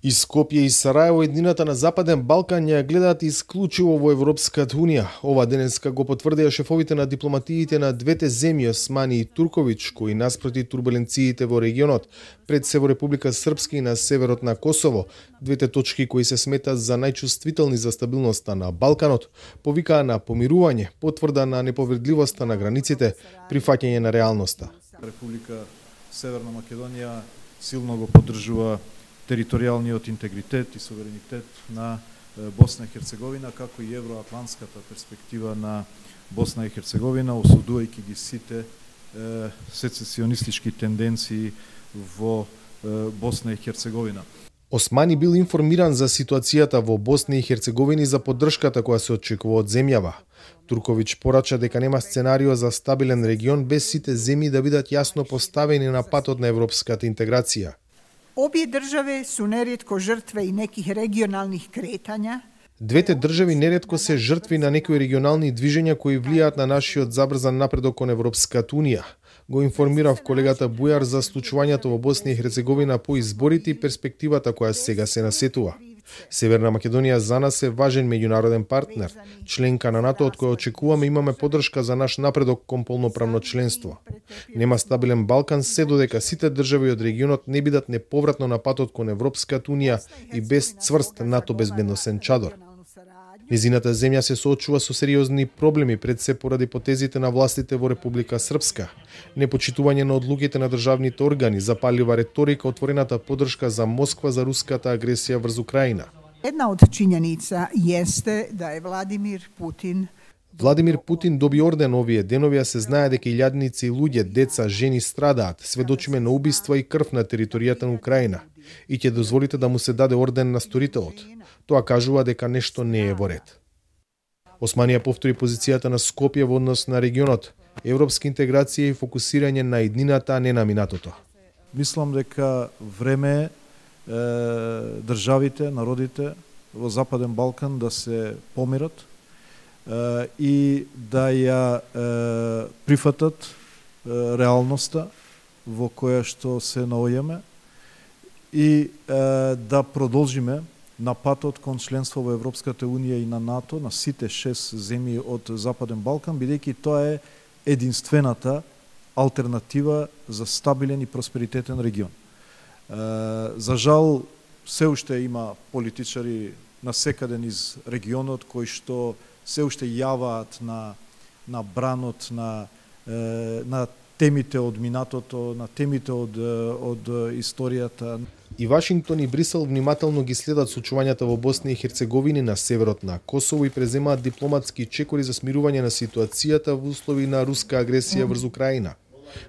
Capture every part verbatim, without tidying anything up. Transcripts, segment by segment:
И Скопје и Сараево, еднината на Западен Балкан, ја гледаат исклучиво во Европската Унија. Ова денеска го потврдија шефовите на дипломатиите на двете земји, Османи и Туркович, кои наспроти турбуленциите во регионот, пред се во Република Српска и на северот на Косово, двете точки кои се сметат за најчувствителни за стабилноста на Балканот, повикаа на помирување, потврда на неповредливоста на границите, прифаќање на реалноста. Република Северна Македонија силно го поддржува територијалниот интегритет и суверенитет на Босна и Херцеговина, како и евроатлантската перспектива на Босна и Херцеговина, осудувајќи ги сите е, сецесионистички тенденции во е, Босна и Херцеговина. Османи бил информиран за ситуацијата во Босна и Херцеговина и за поддршката која се очекува од земјава. Туркович порача дека нема сценарио за стабилен регион без сите земји да бидат јасно поставени на патот на европската интеграција. Обе држави су неретко жртве и неких регионалних кретања. Двете држави неретко се жртви на некои регионални движења кои влијаат на нашиот забрзан напредок кон Европската Унија. Го информирав колегата Бујар за случувањето во Босна и Херцеговина по изборите и перспективата која сега се насетува. Северна Македонија за нас е важен меѓународен партнер, членка на НАТО од која очекуваме имаме поддршка за наш напредок кон полноправно членство. Нема стабилен Балкан се додека сите држави од регионот не бидат неповратно на патот кон Европската Унија и без цврст НАТО безбедносен чадор. Незината земја се соочува со сериозни проблеми пред се поради потезите на властите во Република Српска, непочитување на одлуките на државните органи, запалива реторика, отворената поддршка за Москва за руската агресија врз Украина. Една од чињеница јесте да е Владимир Путин Владимир Путин доби орден овие денови, а се знае дека илјадници луѓе, деца, жени страдаат, сведочиме на убиства и крв на територијата на Украина. И ќе дозволите да му се даде орден на сторителот. Тоа кажува дека нешто не е во ред. Османија повтори позицијата на Скопје во однос на регионот, европска интеграција и фокусирање на иднината, а не на минатото. Мислам дека време е државите, народите во Западен Балкан да се помират е, и да ја е, прифатат е, реалноста во која што се наоѓаме и е, да продолжиме на патот кон членство во Европската Унија и на НАТО, на сите шест земји од Западен Балкан, бидејќи тоа е единствената алтернатива за стабилен и просперитетен регион. Е, за жал, се уште има политичари насекаде низ регионот кои што се уште јаваат на, на бранот на, е, на темите од минатото, на темите од, од историјата. И Вашингтон и Брисел внимателно ги следат случувањата во Босна и Херцеговина на северот на Косово и преземаат дипломатски чекори за смирување на ситуацијата во услови на руска агресија врз Украина.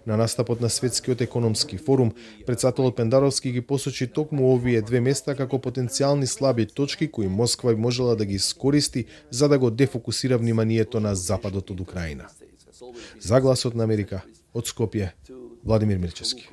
На настапот на Светскиот економски форум, претседателот Пендаровски ги посочи токму овие две места како потенцијални слаби точки кои Москва можела да ги искористи за да го дефокусира вниманието на западот од Украина. За Гласот на Америка, од Скопје, Владимир Мирчевски.